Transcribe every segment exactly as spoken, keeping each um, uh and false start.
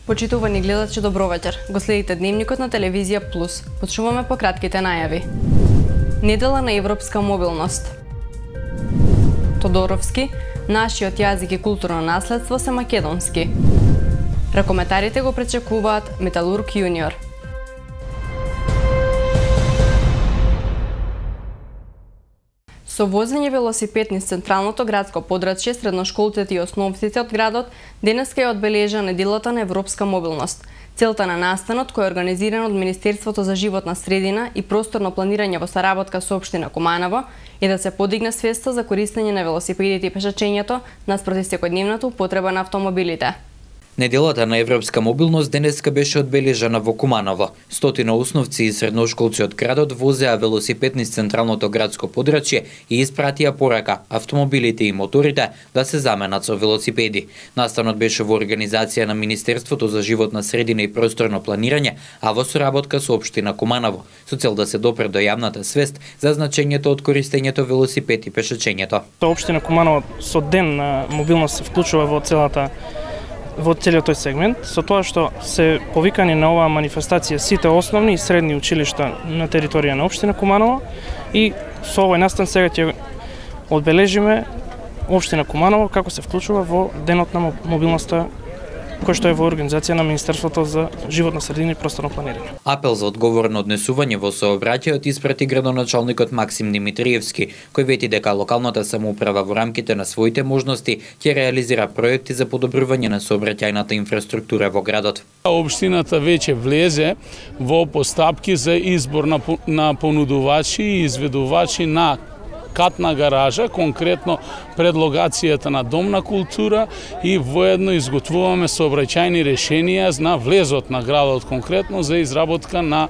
Почитувани гледачи, добро вечер. Го следите дневникот на телевизија Плюс. Почнуваме по кратките најави. Недела на европска мобилност. Тодоровски, нашиот јазик и културно наследство се македонски. Ракометарите го пречекуваат Металург јуниор. Со возење велосипед низ централното градско подрачје, средношколците и основците од градот денеска е одбележана неделата на европска мобилност. Целта на настанот, кој е организиран од Министерството за животна средина и просторно планирање во соработка со општина Куманово, е да се подигне свеста за користење на велосипедите и пешачењето наспроти секојдневната употреба на автомобилите. Неделата на европска мобилност денеска беше одбележана во Куманово. Стотина основци и средношколци од градот возеа велосипед низ централното градско подрачје и испратија порака автомобилите и моторите да се заменат со велосипеди. Настанот беше во организација на Министерството за животна средина и просторно планирање, а во соработка со општина Куманово, со цел да се допре до јавната свест за значењето од користењето велосипед и пешачењето. Општина Куманово со ден на мобилност се вклучува во целата во целиот тој сегмент, со тоа што се повикани на оваа манифестација сите основни и средни училишта на територија на општина Куманово и со овој настан сега ќе одбележиме општина Куманово како се вклучува во денот на мобилноста кој што е во организација на Министерството за животна средина и просторно планирање. Апел за одговорно однесување во сообраќајот испрати градоначалникот Максим Димитриевски, кој вети дека локалната самоуправа во рамките на своите можности ќе реализира проекти за подобрување на сообраќајната инфраструктура во градот. Општината веќе влезе во постапки за избор на, на понудувачи и изведувачи на катна гаража, конкретно пред локацијата на Дом на култура, и воедно изготвуваме сообраќајни решенија на влезот на градот, конкретно за изработка на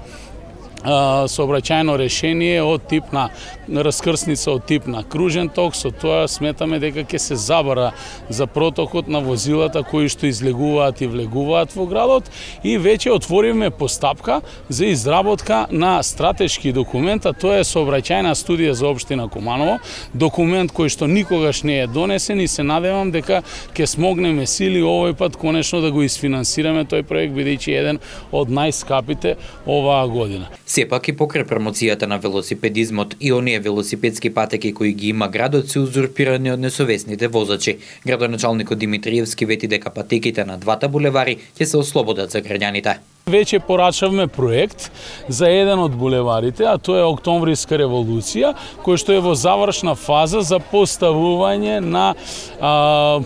сообраќајно решение од тип на раскрсница од тип на кружен ток. Со тоа сметаме дека ќе се забара за протокот на возилата кои што излегуваат и влегуваат во градот, и веќе отвориме постапка за изработка на стратешки документ, а тоа е сообраќајна студија за општина Куманово, документ кој што никогаш не е донесен, и се надевам дека ќе смогнеме сили овој пат конечно да го isfinansirаме тој проект, бидејќи еден од најскапите оваа година. Сепак и покрај промоцијата на велосипедизмот и оние велосипедски патеки кои ги има градот се узурпирани од несовесните возачи. Градоначалникот Димитриевски вети дека патеките на двата булевари ќе се ослободат за граѓаните. Веќе порачавме проект за еден од булеварите, а тоа е Октомвриска револуција, кој што е во завршна фаза за поставување на а,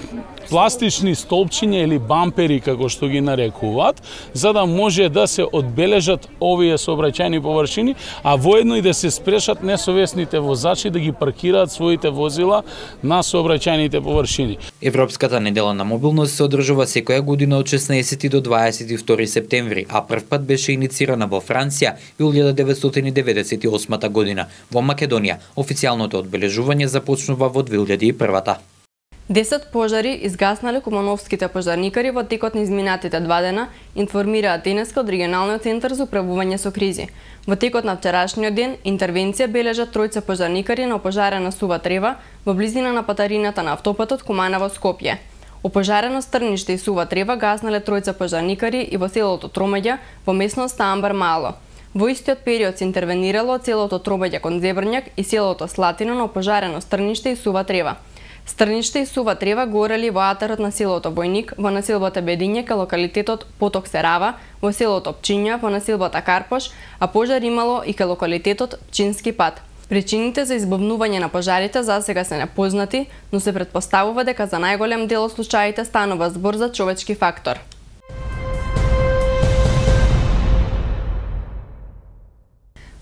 пластични столпчиња или бампери, како што ги нарекуваат, за да може да се одбележат овие сообраќајни површини, а воедно и да се спрешат несовесните возачи да ги паркираат своите возила на сообраќајните површини. Европската недела на мобилност се одржува секоја година од шеснаесети до дваесет и втори септември, а прв пат беше иницирана во Франција во илјада деветстотини деветдесет и осма година. Во Македонија официјалното одбележување започнува во две илјади и прва. десет пожари изгаснале кумановските пожарникари во текот на изминатите два дена, информираат денеска од регионалниот центар за управување со кризи. Во текот на вчерашниот ден интервенција бележат тројца пожарникари на опожарена Сува Трева во близина на патарината на автопатот Куманово-Скопје. Опожарено Стрниште и Сува Трева гаснале тројца пожарникари и во селото Тромаѓа во местноста Амбар Мало. Во истиот период се интервенирало целото Тромаѓа кон Зебрњак и селото Слатино на опожарено Стрниште и Сува Трева. Стрниште и Сува Трева горели во атарот на селото Војник, во населбата Бедиње ка локалитетот Поток Серава, во селото Пчиња, во населбата Карпош, а пожар имало и ка локалитетот Пчински пат. Причините за избавнување на пожарите засега се непознати, но се претпоставува дека за најголем дел од случаите станува збор за човечки фактор.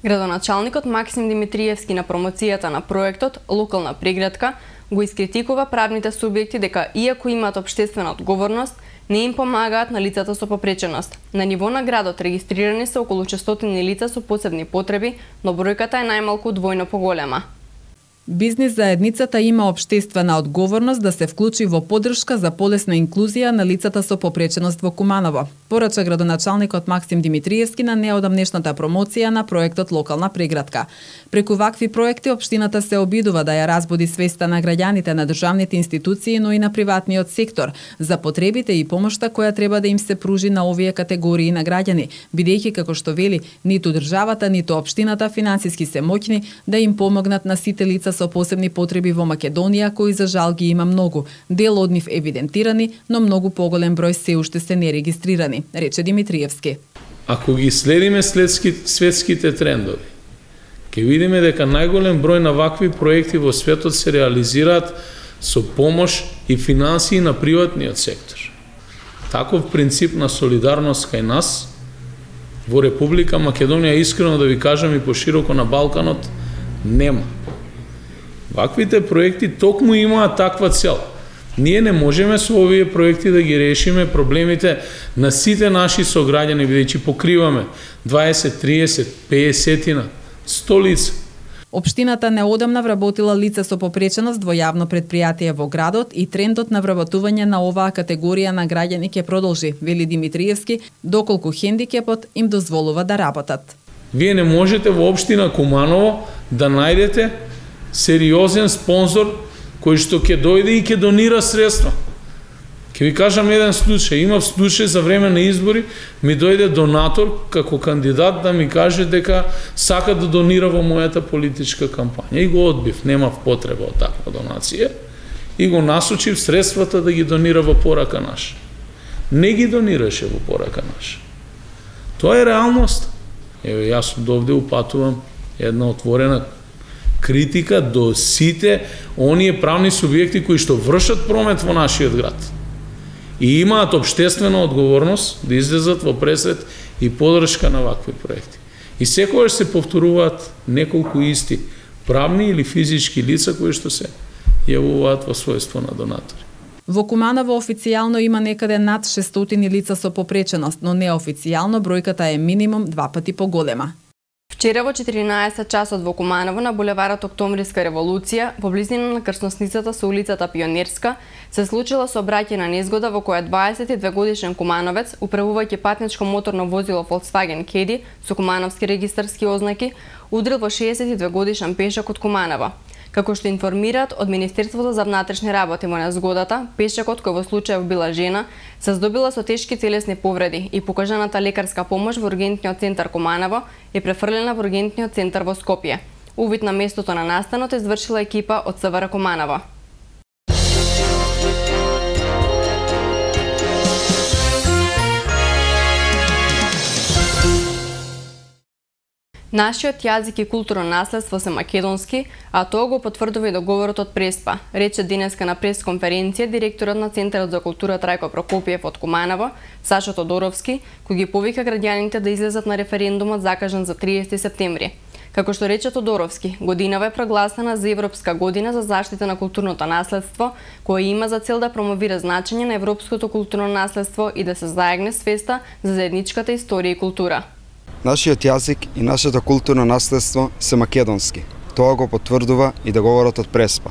Градоначалникот Максим Димитриевски на промоцијата на проектот Локална преградка го искритикува правните субјекти дека иако имаат општествена одговорност, не им помагаат на лицата со попреченост. На ниво на градот регистрирани се околу четиристотини лица со посебни потреби, но бројката е најмалку двојно поголема. Бизнис заедницата има општествена одговорност да се вклучи во поддршка за полесна инклузија на лицата со попреченост во Куманово, порача градоначалникот Максим Димитриевски на неодамнешната промоција на проектот Локална преградка. Преку вакви проекти општината се обидува да ја разбуди свеста на граѓаните, на државните институции, но и на приватниот сектор за потребите и помошта која треба да им се пружи на овие категории на граѓани, бидејќи како што вели, ниту државата, ниту општината финансиски се моќни да им помогнат на сите лица со посебни потреби во Македонија, кои за жал ги има многу. Дел од нив евидентирани, но многу поголем број се уште се нерегистрирани, рече Димитриевски. Ако ги следиме следски, светските трендови, ќе видиме дека најголем број на вакви проекти во светот се реализираат со помош и финансии на приватниот сектор. Таков принцип на солидарност кај нас во Република Македонија, искрено да ви кажам и пошироко на Балканот, нема. Ваквите проекти токму имаат таква цел. Ние не можеме со овие проекти да ги решиме проблемите на сите наши сограѓани, бидејќи покриваме дваесет, триесет, песет, сто лица. Општината неодамна вработила лица со попреченост во јавно предпријатие во градот и трендот на вработување на оваа категорија на граѓани ќе продолжи, вели Димитриевски, доколку хендикепот им дозволува да работат. Вие не можете во општина Куманово да најдете сериозен спонзор кој што ќе дојде и ќе донира средства. Ќе ви кажам еден случај. Имав случај за време на избори, ми дојде донатор како кандидат да ми каже дека сака да донира во мојата политичка кампања. И го одбив, немав потреба од таква донација. И го насочив средствата да ги донира во порака наша. Не ги донираше во порака наша. Тоа е реалност. Еве, јас од овде упатувам една отворена критика до сите оние правни субјекти кои што вршат промет во нашиот град. И имаат општествена одговорност да излезат во пресред и поддршка на вакви проекти. И секогаш се повторуваат неколку исти правни или физички лица кои што се јавуваат во својство на донатори. Во Куманово официјално има некаде над шестстотини лица со попреченост, но неофицијално бројката е минимум два пати поголема. Вчера во четиринаесет часот во Куманово на булеварот Октомвриска револуција, во близина на крстосницата со улицата Пионерска, се случила сообраќајна незгода во која дваесет и две годишен кумановец, управувајќи патничко моторно возило Volkswagen Caddy со кумановски регистарски ознаки, удрил во шеесет и две годишен пешак од Куманово. Како што информираат од Министерството за внатрешни работи во незгодата, пешакот кој во случајов била жена, се здобила со тешки телесни повреди и покажаната лекарска помош во ургентниот центар Куманово е префрлена во ургентниот центар во Скопје. Увид на местото на настанот извршила екипа од СВР Куманово. Нашиот јазик и културно наследство се македонски, а тоа го потврдува и договорот од Преспа, рече денеска на пресконференција директорот на Центарот за култура Трајко Прокопиев од Куманово, Сашо Тодоровски, кој ги повика граѓаните да излезат на референдумот закажан за триесети септември. Како што рече Тодоровски, годинава е прогласена за Европска година за заштита на културното наследство, која има за цел да промовира значење на европското културно наследство и да се заегне свеста за заедничката историја и култура. Нашиот јазик и нашето културно наследство се македонски. Тоа го потврдува и договорот од Преспа.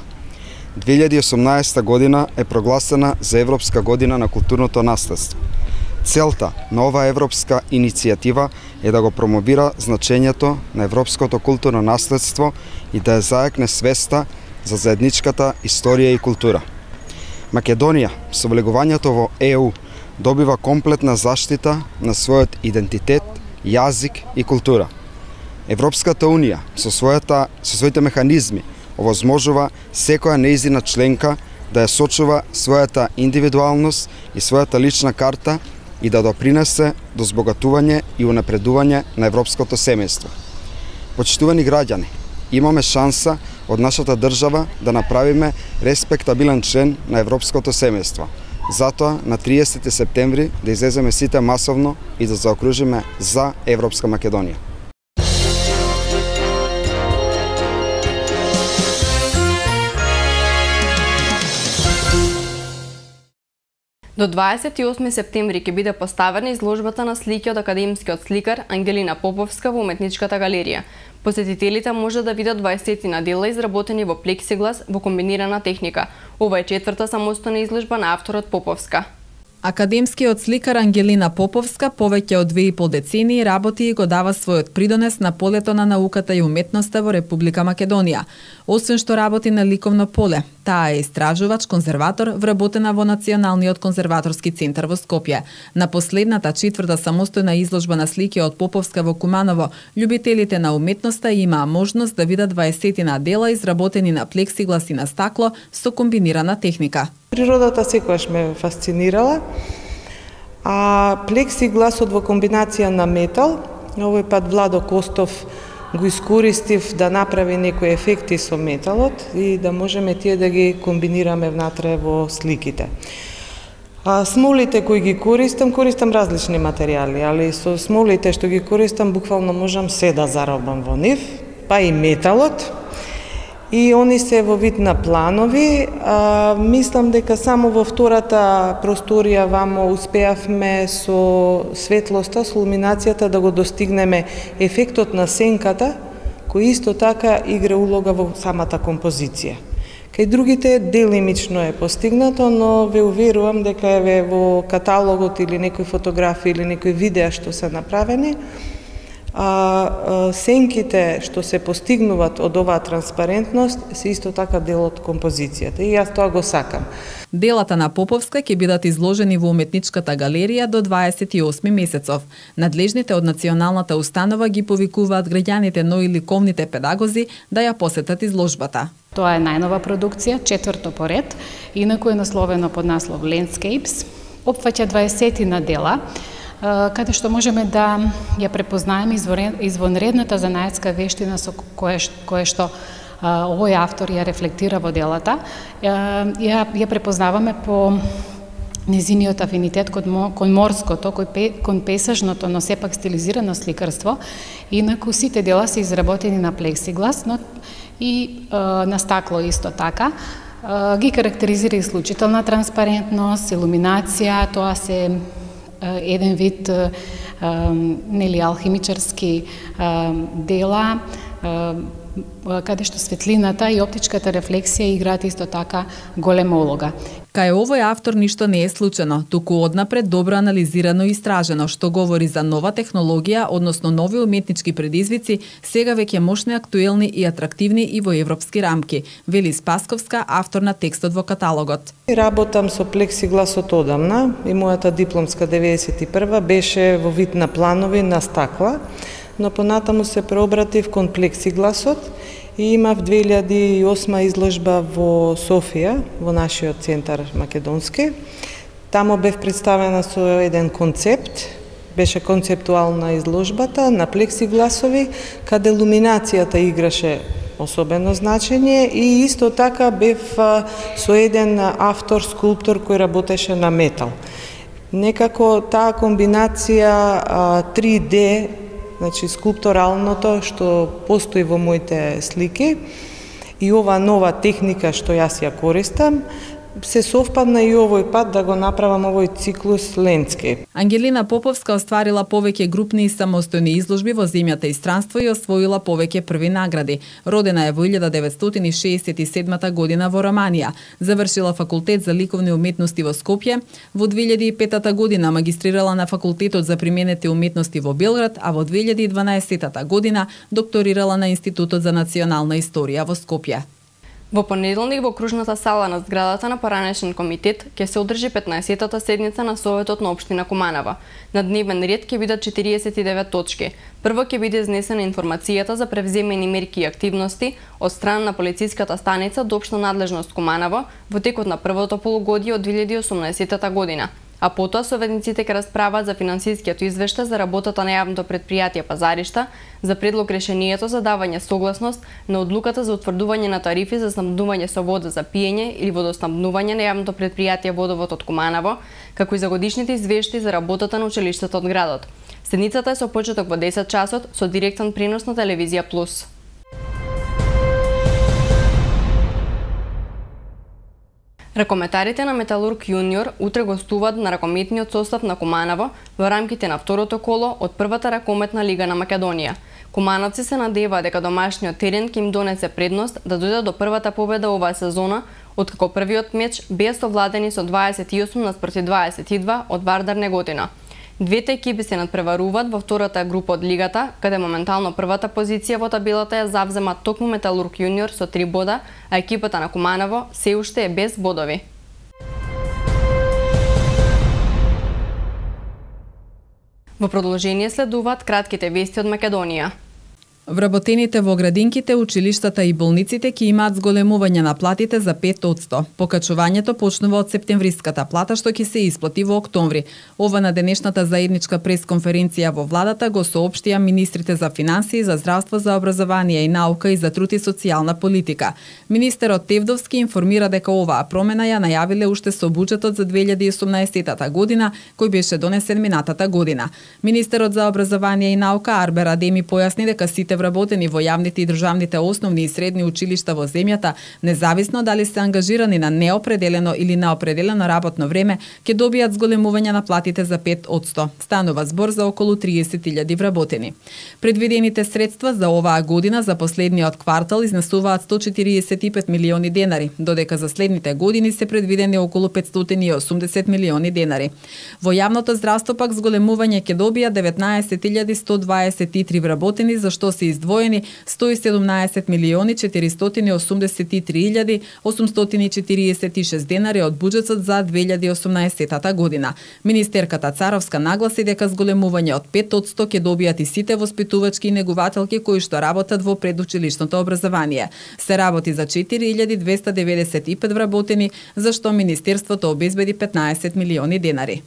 две илјади и осумнаесета година е прогласена за Европска година на културното наследство. Целта на оваа европска иницијатива е да го промовира значењето на европското културно наследство и да ја заекне свеста за заедничката историја и култура. Македонија, со влегувањето во Е У, добива комплетна заштита на својот идентитет, јазик и култура. Европската Унија со својата со своите механизми овозможува секоја нејзина членка да ја сочува својата индивидуалност и својата лична карта и да допринесе до збогатување и унапредување на европското семејство. Почитувани граѓани, имаме шанса од нашата држава да направиме респектабилен член на европското семејство. Затоа на триесети септември да излеземе сите масовно и да заокружиме за Европска Македонија. До дваесет и осми септември ќе биде поставена изложбата на слики од академскиот сликар Ангелина Поповска во Уметничката галерија. Посетителите може да видат дваесетина дела изработени во плексиглас во комбинирана техника. Ова е четврта самостојна изложба на авторот Поповска. Академскиот сликар Ангелина Поповска повеќе од две и пол децении работи и го дава својот придонес на полето на науката и уметноста во Република Македонија. Освен што работи на ликовно поле, таа е истражувач, конзерватор, вработена во Националниот конзерваторски центар во Скопје. На последната четврта самостојна изложба на слики од Поповска во Куманово, љубителите на уметноста имаа можност да видат дваесетина дела изработени на плексиглас и на стакло со комбинирана техника. Природата секогаш ме фасцинирала, а плексигласот во комбинација на метал, овој пат Владо Костов го искористив да направи некои ефекти со металот и да можеме тие да ги комбинираме внатре во сликите. А смолите кои ги користам, користам различни материјали, али со смолите што ги користам буквално можам се да заробам во нив, па и металот. И они се во вид на планови. А, мислам дека само во втората просторија вамо успеавме со светлоста, со илуминацијата да го достигнеме ефектот на сенката, кој исто така игра улога во самата композиција. Кај другите делимично е постигнато, но ве уверувам дека еве во каталогот или некои фотографии или некои видеа што се направени, а сенките што се постигнуваат од оваа транспарентност се исто така дел од композицијата и јас тоа го сакам. Делата на Поповска ќе бидат изложени во Уметничката галерија до дваесет и осми месецов. Надлежните од националната установа ги повикуваат граѓаните, но и ликовните педагози да ја посетат изложбата. Тоа е најнова продукција, четврто поред, инаку е насловено под наслов Landscapes. Опфаќа дваесетина дела, каде што можеме да ја препознаеме извонредната занаетска вештина со кое, кое што овој автор ја рефлектира во делата. Ја, ја препознаваме по незиниот афинитет кон, кон морското, кон песажното, но сепак стилизирано сликарство. Инаку сите дела се изработени на плексиглас, но и на стакло исто така. Ги карактеризира исклучителна транспарентност, илуминација, тоа се еден вид нели алхимичарски дела, каде што светлината и оптичката рефлексија играат исто така голема улога. Кај овој автор ништо не е случајно, туку однапред добро анализирано и истражено, што говори за нова технологија, односно нови уметнички предизвици, сега веќе мощни, актуелни и атрактивни и во европски рамки, вели Спасковска, автор на текстот во каталогот. Работам со плексигласот одамна и мојата дипломска деветдесет и прва беше во вид на планови на стакла, но понатаму се преобратив кон плексигласот и имав две илјади и осма изложба во Софија, во нашиот центар македонски. Тамо бев представена со еден концепт, беше концептуална изложбата на плексигласови, каде луминацијата играше особено значење и исто така бев со еден автор, скулптор кој работеше на метал. Некако таа комбинација три де, значи скулпторалното што постои во моите слики и ова нова техника што јас ја користам, се совпадна и овој пат да го направам овој циклус Landscape. Ангелина Поповска остварила повеќе групни и самостојни изложби во земјата и странство и освоила повеќе први награди. Родена е во илјада деветстотини шеесет и седма година во Романија. Завршила факултет за ликовни уметности во Скопје. Во две илјади и пета година магистрирала на факултетот за применети уметности во Белград, а во две илјади и дванаесета година докторирала на Институтот за национална историја во Скопје. Во понеделник во кружната сала на зградата на Поранешен комитет ќе се одржи петнаесеттата седница на Советот на општина Куманова. На дневен ред ќе бидат четириесет и девет точки. Прво ќе биде изнесена информацијата за превземени мерки и активности од страна на полициската станица до општа надлежност Куманово во текот на првото полугодие од две илјади и осумнаесета година. А потоа советниците ќе расправат за финансискиот извештај за работата на јавното предпријатие Пазаришта, за предлог решението за давање согласност на одлуката за утврдување на тарифи за снабдување со вода за пиење или водоснабдување на јавното предпријатие Водовод од Куманово, како и за годишните извештаи за работата на училиштето од градот. Седницата е со почеток во десет часот со директен пренос на Телевизија Плюс. Ракометарите на Металург Јуниор утре гостуваат на ракометниот состав на Куманово во рамките на второто коло од првата ракометна лига на Македонија. Кумановци се надеваат дека домашниот терен ќе им донесе предност да дојдат до првата победа оваа сезона, откако првиот меч беа совладени со дваесет и осум наспроти дваесет и два од Вардар Неготина. Двете екипи се надпреваруваат во втората група од лигата, каде моментално првата позиција во табелата ја завзема токму Металург Јуниор со три бода, а екипата на Куманово се уште е без бодови. Во продолжение следуваат кратките вести од Македонија. Вработените во градинките, училиштата и болниците ќе имаат зголемување на платите за пет одсто. Покачувањето почнува од септемвриската плата што ќе се исплати во октомври. Ова на денешната заедничка пресконференција во владата го соопштија министрите за финансии, за здравство, за образование и наука и за труд и социјална политика. Министерот Тевдовски информира дека оваа промена ја најавиле уште со буџетот за две илјади и осумнаесета година, кој беше донесен минатата година. Министерот за образование и наука Арбер Адеми појасни дека сите вработени во јавните и државните основни и средни училишта во земјата, независно дали се ангажирани на неопределено или неопределено работно време, ќе добијат зголемување на платите за пет одсто. Станува збор за околу триесет илјади вработени. Предвидените средства за оваа година за последниот квартал изнесуваат сто четириесет и пет милиони денари, додека за следните години се предвидени околу петстотини и осумдесет милиони денари. Во јавното здравство пак зголемување ќе добијат деветнаесет илјади сто дваесет и три вработени, за што се издвоени сто и седумнаесет милиони четиристотини и осумдесет и три илјади осумстотини и четириесет и шест денари од буџетот за две илјади и осумнаесета година. Министерката Царовска нагласи дека зголемување од пет одсто ќе добијат и сите воспитувачки и негувателки кои што работат во предучилишното образование. Се работи за четири илјади двесте деветдесет и пет вработени, за што Министерството обезбеди петнаесет милиони денари.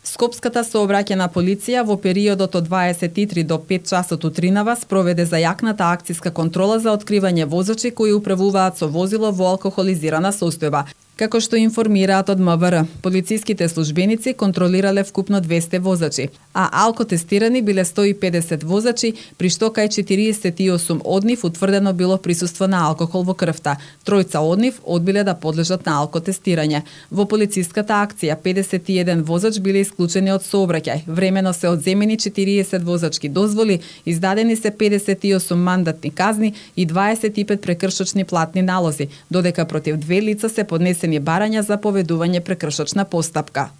Скопската сообраќајна полиција во периодот од дваесет и три до пет часот утринава спроведе зајакната акциска контрола за откривање возачи кои управуваат со возило во алкохолизирана состојба. Како што информираат од М В Р, полициските службеници контролирале вкупно двесте возачи, а алкотестирани биле сто и педесет возачи, при што кај четириесет и осум од нив утврдено било присуство на алкохол во крвта. Тројца од нив одбиле да подлежат на алкотестирање. Во полициската акција педесет и еден возач биле исклучени од сообраќај. Времено се одземени четириесет возачки дозволи, издадени се педесет и осум мандатни казни и дваесет и пет прекршочни платни налози, додека против две лица се поднесени барања за поведување прекршочна постапка.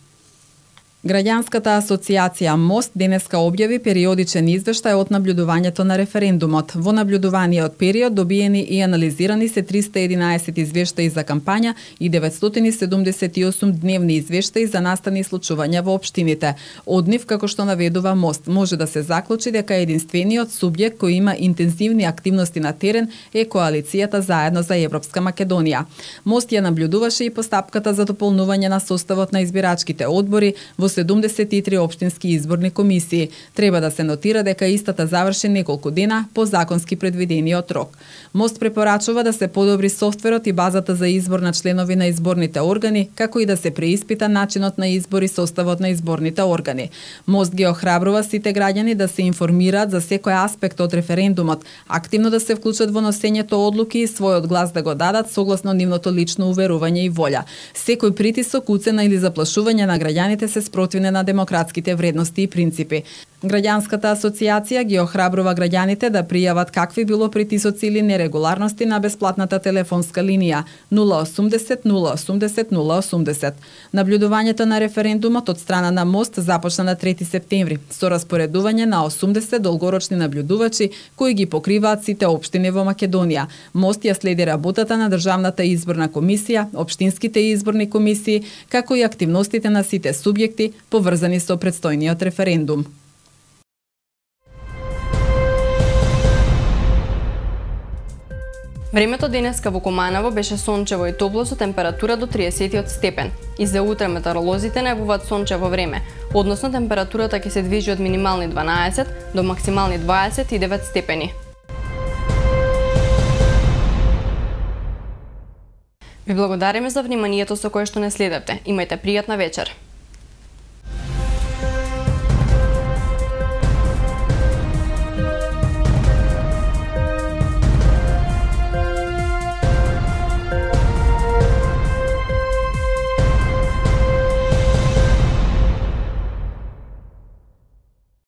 Граѓанската асоциација МОСТ денеска објави периодичен извештај од наблюдувањето на референдумот. Во наблюдуваниот период добиени и анализирани се триста и единаесет извештаи за кампања и деветстотини седумдесет и осум дневни извештаи за настани случувања во општините. Од нив, како што наведува МОСТ, може да се заклучи дека единствениот субјект кој има интензивни активности на терен е коалицијата Заедно за Европска Македонија. МОСТ ја наблюдуваше и постапката за дополнување на составот на избирачките одбори во седумдесет и три општински изборни комисии. Треба да се нотира дека истата заврши неколку дена по законски предвидениот рок. МОСТ препорачува да се подобри софтверот и базата за избор на членови на изборните органи, како и да се преиспита начинот на избор и составот на изборните органи. МОСТ ги охрабрува сите граѓани да се информираат за секој аспект од референдумот, активно да се вклучат во носењето одлуки и својот глас да го дадат согласно нивното лично уверување и волја. Секој притисок, уцена или заплашување на граѓаните се спротивне на демократските вредности и принципи. Граѓанската асоциација ги охрабрува граѓаните да пријават какви било притисоци или нерегуларности на бесплатната телефонска линија нула осумдесет нула осумдесет нула осумдесет. Наблюдувањето на референдумот од страна на МОСТ започна на трети септември со распоредување на осумдесет долгорочни наблюдувачи кои ги покриваат сите општини во Македонија. МОСТ ја следи работата на Државната изборна комисија, општинските изборни комисии, како и активностите на сите субјекти поврзани со предстојниот референдум. Времето денеска во Куманово беше сончево и топло со температура до триесет степен. И за утре метеоролозите најавуваат сончево време, односно температурата ќе се движи од минимални дванаесет до максимални дваесет и девет степени. Ви благодариме за вниманието со кое што не следевте. Имајте пријатна вечер.